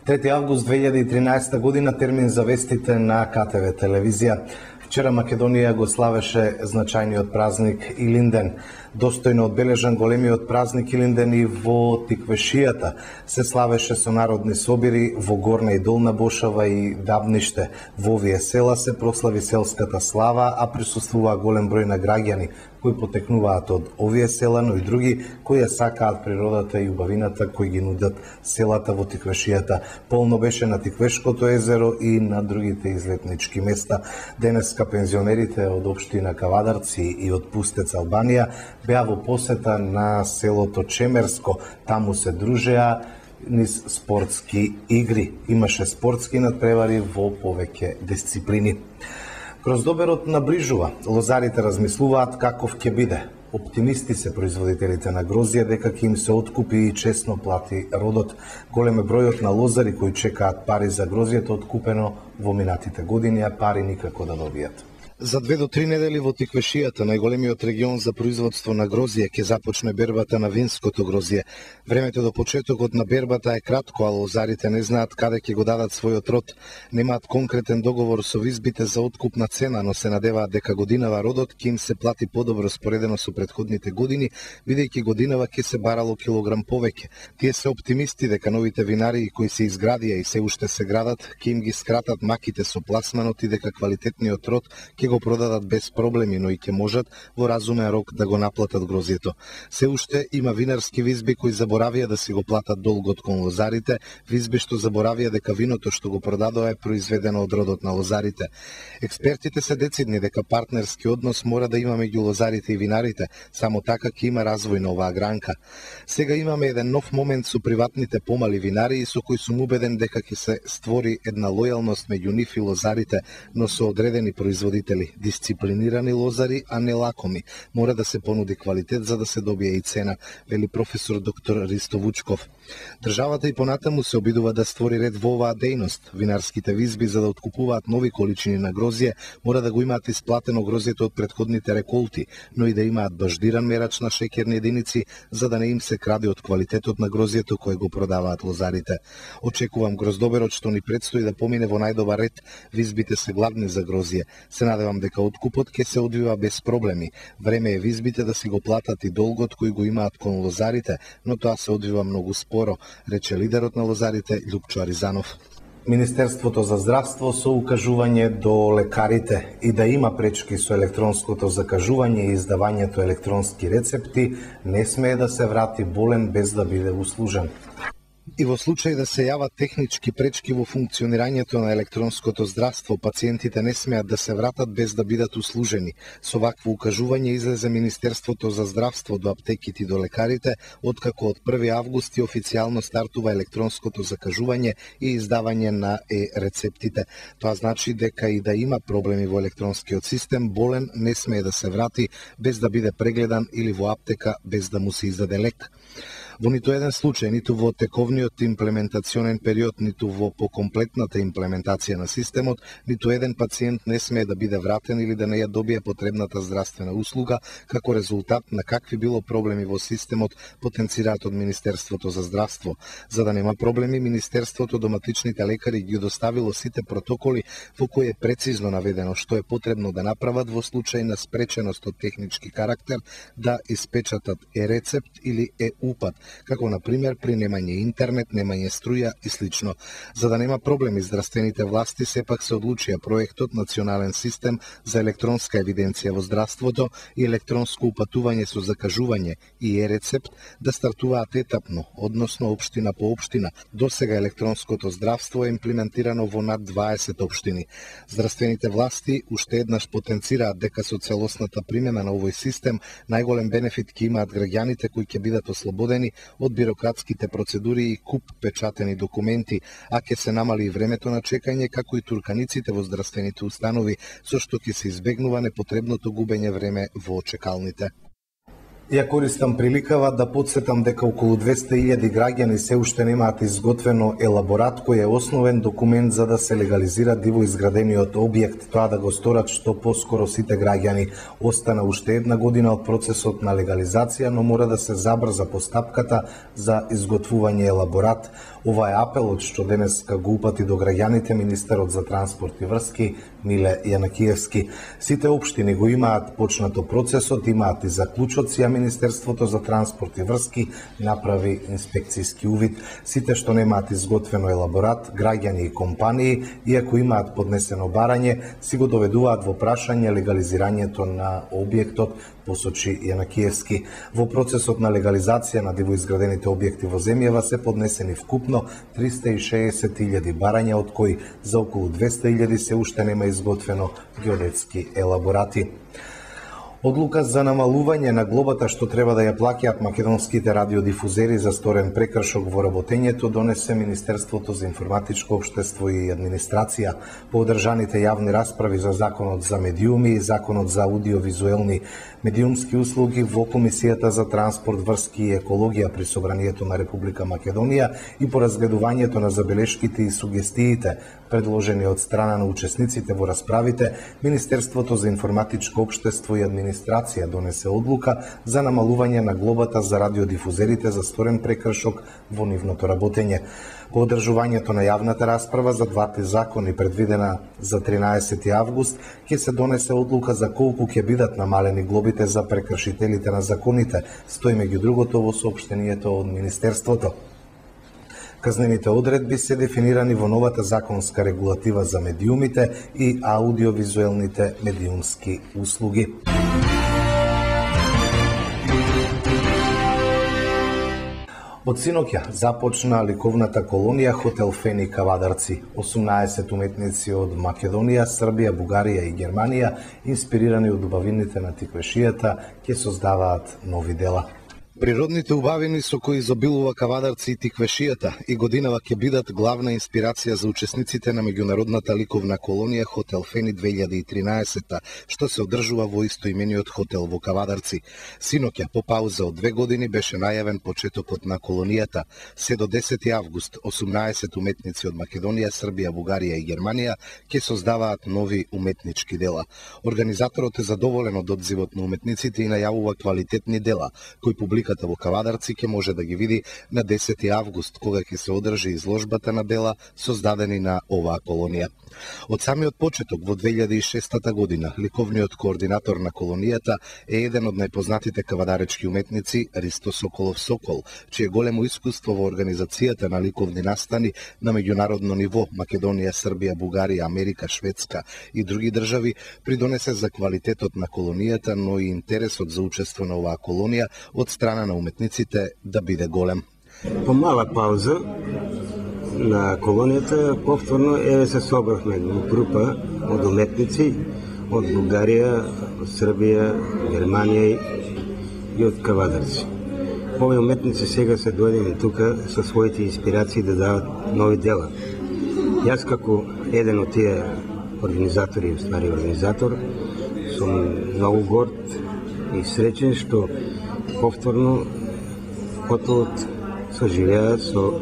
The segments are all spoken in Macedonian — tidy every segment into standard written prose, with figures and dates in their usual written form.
3 август 2013 година, термин за вестите на КТВ телевизија. Вчера Македонија го славеше значајниот празник Илинден. Достојно одбележан големиот празник Илинден и во Тиквешијата се славеше со народни собири во Горна и Долна Бошава и Дабниште. Во овие села се прослави селската слава, а присуствуваа голем број на граѓани кои потекнуваат од овие села, но и други кои ја сакаат природата и убавината кои ги нудат селата во Тиквешијата. Полно беше на Тиквешкото езеро и на другите излетнички места. Денеска пензионерите од општина Кавадарци и од Пустец Албанија беа во посета на селото Чемерско. Таму се дружеа низ спортски игри. Имаше спортски надпревари во повеќе дисциплини. Гроздоберот наближува. Лозарите размислуваат каков ќе биде. Оптимисти се производителите на грозје дека ќе им се откупи и честно плати родот. Голем е бројот на лозари кои чекаат пари за грозјето откупено во минатите години, а пари никако да добијат. За 2 до 3 недели во Тиквешијата, најголемиот регион за производство на грозје, ќе започне бербата на винското грозје. Времето до почетокот на бербата е кратко, а лозарите не знаат каде ќе го дадат својот род. Немаат конкретен договор со визбите за откупна цена, но се надеваат дека годинава родот ќе им се плати подобро споредено со претходните години, бидејќи годинава ќе се барало килограм повеќе. Тие се оптимисти дека новите винари кои се изградија и се уште се градат, ќе им ги скратат маките со пласманот и дека квалитетниот род ќе го продадат без проблеми, но и ќе можат во разумен рок да го наплатат грозјето. Се уште има винарски визби кои заборавија да си го платат долгот кон лозарите, визби што заборавија дека виното што го продадоа е произведено од родот на лозарите. Експертите се децидни дека партнерски однос мора да има меѓу лозарите и винарите, само така ќе има развој на оваа гранка. Сега имаме еден нов момент со приватните помали винари и со кој сум убеден дека ќе се створи една лојалност меѓу нив и лозарите, но со одредени производители. Дисциплинирани лозари, а не лакоми. Мора да се понуди квалитет за да се добие и цена, вели професор доктор Ристо Вучков. Државата и понатаму се обидува да створи ред во оваа дејност. Винарските визби за да откупуваат нови количини на грозје, мора да го имаат исплатено грозјето од претходните реколти, но и да имаат баждиран мерач на шеќерни единици за да не им се краде од квалитетот на грозјето кое го продаваат лозарите. Очекувам гроздоберот што ни предстои да помине во најдобар ред. Визбите се гладни за грозје. Се надевам дека откупот ќе се одвива без проблеми. Време е визбите да си го платат и долгот кој го имаат кон лозарите, но тоа се одвива многу споро, рече лидерот на лозарите Љупчо Аризанов. Министерството за здравство со укажување до лекарите и да има пречки со електронското закажување и издавањето електронски рецепти, не смее да се врати болен без да биде услужен. И во случај да се јават технички пречки во функционирањето на електронското здравство, пациентите не смеат да се вратат без да бидат услужени. Со вакво укажување излезе Министерството за здравство до аптеките и до лекарите, откако од 1 август официјално стартува електронското закажување и издавање на рецептите. Тоа значи дека и да има проблеми во електронскиот систем, болен не смее да се врати без да биде прегледан или во аптека без да му се издаде лек. Во ниту еден случај, ниту во тековниот имплементационен период, ниту во покомплетната имплементација на системот, ниту еден пациент не смее да биде вратен или да не ја добие потребната здравствена услуга, како резултат на какви било проблеми во системот, потенцираат од Министерството за здравство. За да нема проблеми, Министерството доматичните лекари ги доставило сите протоколи во кои е прецизно наведено што е потребно да направат во случај на спреченост од технички карактер да испечатат рецепт или упат, како на пример при немање интернет, немање струја и слично. За да нема проблеми, здравствените власти сепак се одлучија проектот Национален систем за електронска евиденција во здравството и електронско упатување со закажување и рецепт да стартуваат етапно, односно општина по општина. До сега електронското здравство е имплементирано во над 20 општини. Здравствените власти уште еднаш потенцираат дека со целосната примена на овој систем најголем бенефит ќе имаат граѓаните кои ќе бидат ослободени од бирократските процедури и куп печатени документи, а ќе се намали и времето на чекање, како и турканиците во здравствените установи, со што ќе се избегнува непотребното губење време во чекалните. Ја користам приликава да потсетам дека околу 200.000 граѓани се уште немаат изготвено елаборат кој е основен документ за да се легализира диво изградениот објект. Тоа да го сторат што поскоро сите граѓани. Остана уште една година од процесот на легализација, но мора да се забрза постапката за изготвување елаборат. Ова е апелот што денеска го упати до граѓаните министерот за транспорт и врски Миле Јанакиевски. Сите општини го имаат почнато процесот, имаат и заклучоци, а Министерството за транспорт и врски направи инспекцијски увид. Сите што немаат изготвено елаборат, граѓани и компании, иако имаат поднесено барање, си го доведуваат во прашање легализирањето на објектот, посочи Јанакиевски. Во процесот на легализација на дивоизградените објекти во земјава се поднесени вкупно 360.000 барања, од кои за околу 200.000 се уште нема изготвено геодетски елаборати. Одлука за намалување на глобата што треба да ја плаќаат македонските радиодифузери за сторен прекршок во работењето донесе Министерството за информатичко општество и администрација. По одржаните јавни расправи за Законот за медиуми и Законот за аудиовизуелни медиумски услуги во Комисијата за транспорт, врски и екологија при Собранието на Република Македонија и по разгледувањето на забелешките и сугестиите предложени од страна на учесниците во расправите, Министерството за информатичко општество и администрација донесе одлука за намалување на глобата за радиодифузерите за сторен прекршок во нивното работење. По одржувањето на јавната расправа за двата закони предвидена за 13 август ќе се донесе одлука за колку ќе бидат намалени глобите за прекршителите на законите, стои меѓу другото во соопштението од Министерството. Казнените одредби се дефинирани во новата законска регулатива за медиумите и аудиовизуелните медиумски услуги. Од синоќа започна ликовната колонија Хотел Фени Кавадарци. 18 уметници од Македонија, Србија, Бугарија и Германија, инспирирани од убавините на тиквешијата, ќе создаваат нови дела. Природните убавини со кои изобилува Кавадарци и тиквешијата и годинава ќе бидат главна инспирација за учесниците на меѓународната ликовна колонија Хотел Фени 2013, што се одржува во истоимениот хотел во Кавадарци. Синоќа, по пауза од 2 години, беше најавен почетокот на колонијата. Се до 10 август, 18 уметници од Македонија, Србија, Бугарија и Германија ќе создаваат нови уметнички дела. Организаторот е задоволен од одзивот на уметниците и најавува квалитетни дела, кои публиката во Кавадарци ќе може да ги види на 10 август, кога ќе се одржи изложбата на дела создадени на оваа колонија. Од самиот почеток во 2006 година, ликовниот координатор на колонијата е еден од најпознатите кавадаречки уметници Ристо Соколов Сокол, чие големо искуство во организацијата на ликовни настани на меѓународно ниво Македонија, Србија, Бугарија, Америка, Шведска и други држави придонесе за квалитетот на колонијата, но и интересот за учество на оваа колонија од страна на уметниците да биде голем. По мала пауза на колонијата повторно се собравме група од уметници од Бугарија, од Србија, Германија и од Кавадарци. Овие уметници сега се дојдени тука со своите инспирации да дават нови дела. Јас како еден од тие организатори, организатор, сум многу горд и среќен што повторно хотелот соживеа со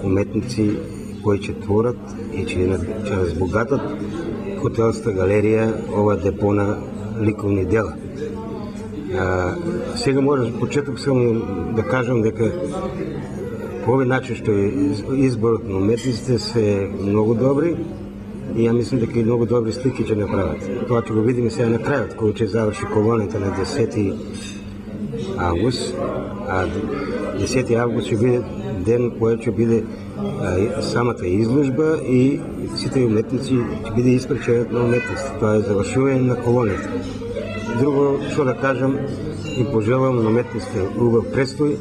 уметници кои ќе творат и ќе разбогатат хотелска галерија, ова депона ликовни дела. Сега може почеток само да кажам дека по овој начин што изборот на уметниците се многу добри и ја мислам дека и многу добри слики ќе направат. Тоа ќе го видиме сега на крајот, кога ќе заврши колонијата на 10 август, а 10 август ќе биде ден кој ќе биде самата изложба и сите уметници ќе биде испреченет на уметници. Тоа е завршување на колонијата. Друго што да кажам и пожелам на уметниците убав престој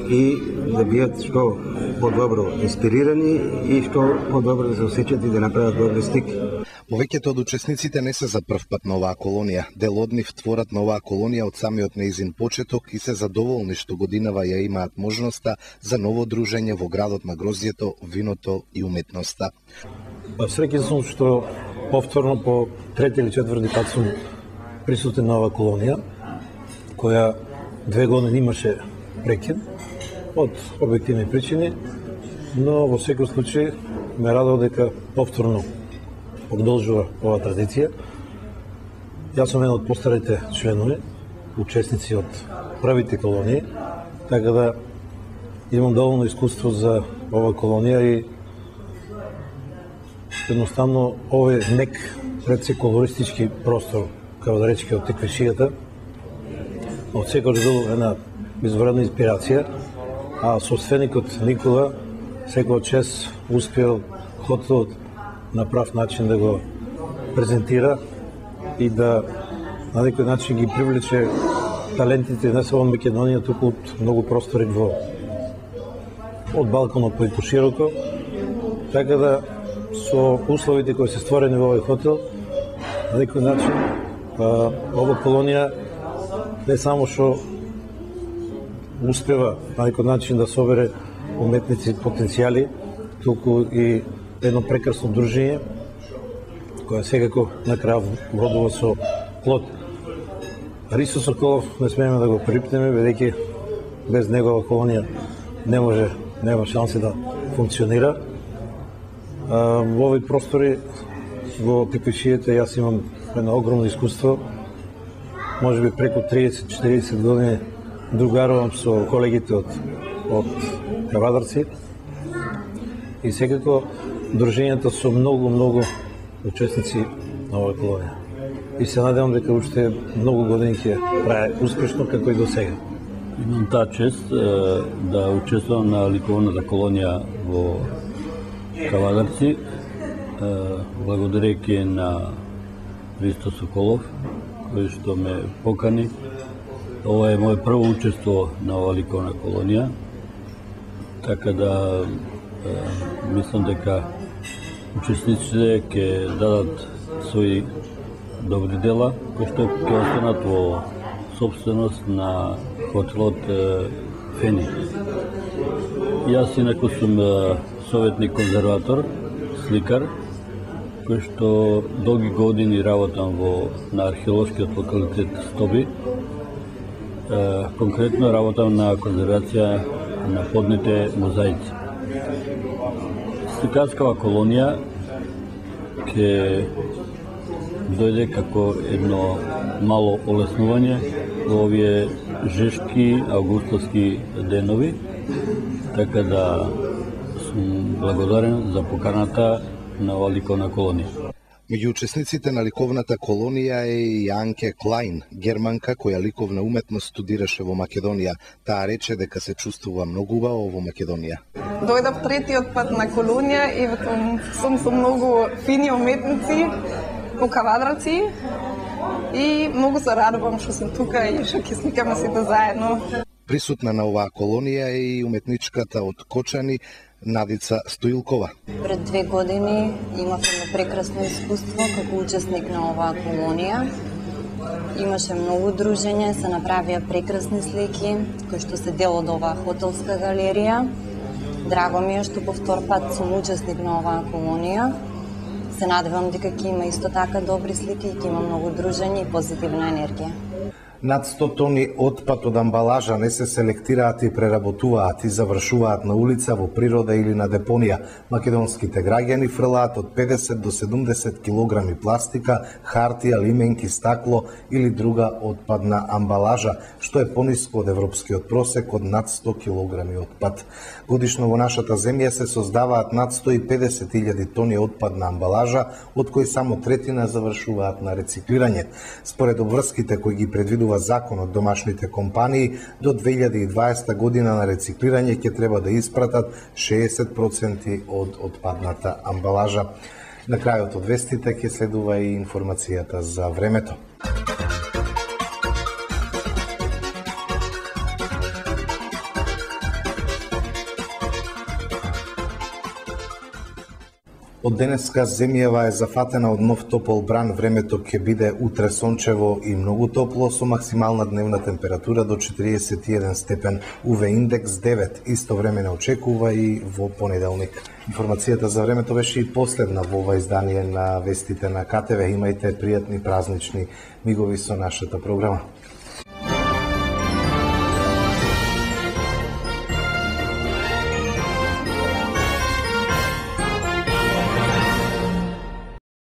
и да бидат што подобро инспирирани и што подобро да се осеќат и да направат добри слики. Повеќето од учесниците не се за прв пат на оваа колонија. Дел од нив творат на оваа колонија од самиот неизин почеток и се задоволни што годинава ја имаат можноста за ново дружење во градот на грозјето, виното и уметноста. Среќен сум што повторно по трети или четврти пат сум присутен на оваа колонија, која 2 години имаше прекин од објективни причини, но во секој случај ме радува дека повторно продолжува оваа традиција. Јас сум еден од постарите членови, учесници од првите колонии, така да имам доволно искуство за оваа колонија и едноставно овој нек предсекуларистички простор, како да речеме, од Теквешијата, од секој бил една извредна инспирација, а собственикот Никола секој чест успел хотелот на прав начин да го презентира и да на некој начин ги привлече талентите не само од Македонија, туку од многу простори од Балканот па и пошироко, така да со условите кои се створени во овој хотел, на некој начин ова колонија не само што успева на некој начин да собере уметници потенцијали, туку и едно прекрасно дружење, која секако на крај вродува со плод. Ристо Соколов не смееме да го припнеме, бидејќи без негова колонија нема шанси да функционира. Во овој простори во Теквешијата јас имам едно огромно искуство, може би преку 30-40 години другарувам со колегите од Кавадарци и секако дружењето со многу учесници на оваа колонија. И се надевам дека уште многу години ќе трае успешно како и до сега. Имам таа чест да учествувам на ликовната колонија во Кавадарци, благодарејќи на Ристо Соколов, кој што ме покани. Ова е моје прво учество на оваа ликовна колонија, така да мислам дека учесниците ќе дадат своји добри дела, кои што ќе останат во собственост на хотелот Фени. Јас инаку сум советник конзерватор, сликар, кој што долги години работам на археолошкиот локалитет Стоби. Конкретно работам на конзервација на подните мозаици. Сликарскава колонија ќе дојде како едно мало олеснување во овие жешки августовски денови, така да сум благодарен за поканата на оваа ликовна колонија. Меѓу учесниците на ликовната колонија е и Анке Клајн, германка која ликовна уметност студираше во Македонија. Таа рече дека се чувствува многу убаво во Македонија. Дојдов третиот пат на колонија и сум со многу фини уметници во Кавадраци и многу се радувам што сум тука и што ќе сликаме сите заедно. Присутна на оваа колонија е и уметничката од Кочани Надица Стоилкова. Пред 2 години имавме прекрасно искуство како учесник на оваа колонија. Имаше многу дружење, се направија прекрасни слики кои што се дел од оваа хотелска галерија. Драго ми е што по втор пат сум учесник на оваа колонија. Се надевам дека ќе има исто така добри слики и ќе има многу дружење и позитивна енергија. Над 100 тони отпад од амбалажа не се селектираат и преработуваат и завршуваат на улица, во природа или на депонија. Македонските граѓани фрлаат од 50 до 70 килограми пластика, хартија, лименки, стакло или друга отпадна амбалажа, што е пониско од европскиот просек од над 100 килограми отпад. Годишно во нашата земја се создаваат над 150.000 тони отпадна амбалажа, од кои само третина завршуваат на рециклирање. Според обврските кои ги предвидува законот, домашните компании до 2020 година на рециклирање ќе треба да испратат 60% од отпадната амбалажа. На крајот од вестите ќе следува и информацијата за времето. Од денеска земјава е зафатена од нов топол бран. Времето ќе биде утре сончево и многу топло со максимална дневна температура до 41 степен, УВ индекс 9. Исто време не очекува и во понеделник. Информацијата за времето беше и последна во ова издание на вестите на КТВ. Имајте пријатни празнични мигови со нашата програма.